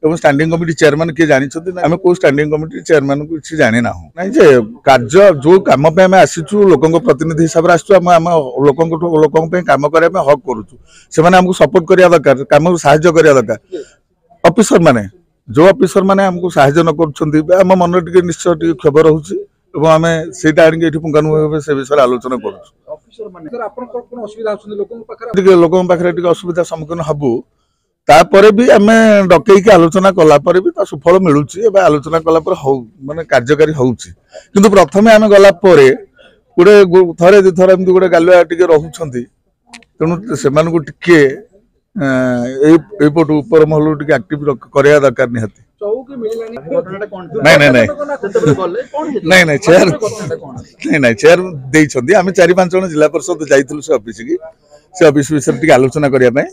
ଏବଂ standing committee chairman କିଏ ଜାଣିଛନ୍ତି ନା ଆମେ କୋଉ ଷ୍ଟାଣ୍ଡିଂ କମିଟି ଚେୟାରମ୍ୟାନ୍କୁ କିଛି ଜାଣିନାହୁଁ। ନାଇଁ ଯେ କାର୍ଯ୍ୟ ଯୋଉ କାମ ପାଇଁ ଆମେ ଆସିଛୁ, ଲୋକଙ୍କ ପ୍ରତିନିଧି ହିସାବରେ ଆସିଛୁ, ଆମେ ଆମ ଲୋକଙ୍କଠୁ ଲୋକଙ୍କ ପାଇଁ କାମ କରିବା ପାଇଁ ହକ୍ କରୁଛୁ। ସେମାନେ ଆମକୁ ସପୋର୍ଟ କରିବା ଦରକାର, କାମକୁ ସାହାଯ୍ୟ କରିବା ଦରକାର। ଅଫିସର ମାନେ ଯୋଉ ଅଫିସର ମାନେ ଆମକୁ ସାହାଯ୍ୟ ନ କରୁଛନ୍ତି, ଆମ ମନରେ ଟିକେ ନିଶ୍ଚୟ ଟିକେ କ୍ଷୋଭ ରହୁଛି ଏବଂ ଆମେ ସେଇଟା ଆଣିକି ଏଠି ପୁଙ୍ଖାନୁପୁଙ୍ଖ ଭାବେ ସେ ବିଷୟରେ ଆଲୋଚନା କରୁଛୁ। ଟିକେ ଲୋକଙ୍କ ପାଖରେ ଟିକେ ଅସୁବିଧା ସମ୍ମୁଖୀନ ହବୁ, ତାପରେ ବି ଆମେ ଡକେଇକି ଆଲୋଚନା କଲା ପରେ ବି ତା ସୁଫଳ ମିଳୁଛି। ଏବେ ଆଲୋଚନା କଲା ପରେ ହଉ ମାନେ କାର୍ଯ୍ୟକାରୀ ହଉଛି। କିନ୍ତୁ ପ୍ରଥମେ ଆମେ ଗଲା ପରେ ଗୋଟେ ଥରେ ଦୁଇଥର ଏମିତି ଗୋଟେ ଗାଲୁଆ ଟିକେ ରହୁଛନ୍ତି। ତେଣୁ ସେମାନଙ୍କୁ ଟିକେ ଏଇପଟୁ ଉପର ମହଲରୁ ଟିକେ ଆକ୍ଟିଭ କରିବା ଦରକାର ନିହାତି। ନାଇଁ ନାଇଁ ନାଇଁ ନାଇଁ ନାଇଁ ଚେୟାର ନାଇଁ ନାଇଁ ଚେୟାର ଦେଇଛନ୍ତି। ଆମେ 4-5 ଜଣ ଜିଲ୍ଲା ପରିଷଦ ଯାଇଥିଲୁ ସେ ଅଫିସକି, ସେ ଅଫିସ ବିଷୟରେ ଟିକେ ଆଲୋଚନା କରିବା ପାଇଁ।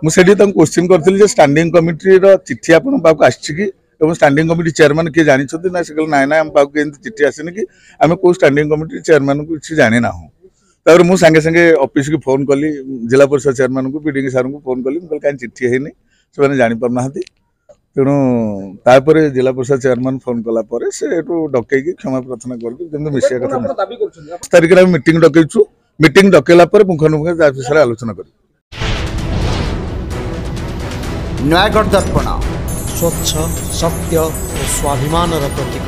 ମୁଁ ସେଠି ତାଙ୍କୁ କୋଶ୍ଚିନ୍ କରିଥିଲି ଯେ ଷ୍ଟାଣ୍ଡିଂ କମିଟିର ଚିଠି ଆପଣଙ୍କ ପାଖକୁ ଆସିଛି କି ଏବଂ ଷ୍ଟାଣ୍ଡିଂ କମିଟି ଚେୟାରମ୍ୟାନ୍ କିଏ ଜାଣିଛନ୍ତି ନା? ସେ କହିଲେ ନାଇଁ ନାଇଁ, ଆମ ପାଖକୁ ଏମିତି ଚିଠି ଆସିନି କି ଆମେ କୋଉ ଷ୍ଟାଣ୍ଡିଂ କମିଟି ଚେୟାରମ୍ୟାନ୍କୁ କିଛି ଜାଣିନାହୁଁ। ତାପରେ ମୁଁ ସାଙ୍ଗେ ସାଙ୍ଗେ ଅଫିସକି ଫୋନ୍ କଲି, ଜିଲ୍ଲା ପରିଷଦ ଚେୟାରମ୍ୟାନ୍କୁ, ପିଡିଙ୍ଗ ସାର୍ଙ୍କୁ ଫୋନ୍ କଲି। ମୁଁ କହିଲି କାହିଁ ଚିଠି ହେଇନି, ସେମାନେ ଜାଣିପାରୁନାହାନ୍ତି। ତେଣୁ ତାପରେ ଜିଲ୍ଲା ପରିଷଦ ଚେୟାରମ୍ୟାନ୍ ଫୋନ୍ କଲା ପରେ ସେ ଏଠୁ ଡକେଇକି କ୍ଷମା ପ୍ରାର୍ଥନା କରିକି ଯେମିତି ମିଶିବା କଥା। ତାରିଖରେ ଆମେ ମିଟିଂ ଡକେଇଛୁ। ମିଟିଂ ଡକେଇଲା ପରେ ପୁଙ୍ଖାନୁପୁଙ୍ଖ ତା ବିଷୟରେ ଆଲୋଚନା କରିବୁ। ନୟାଗଡ଼ ଦର୍ପଣ, ସ୍ୱଚ୍ଛ, ସତ୍ୟ ଓ ସ୍ୱାଭିମାନର ପ୍ରତୀକ।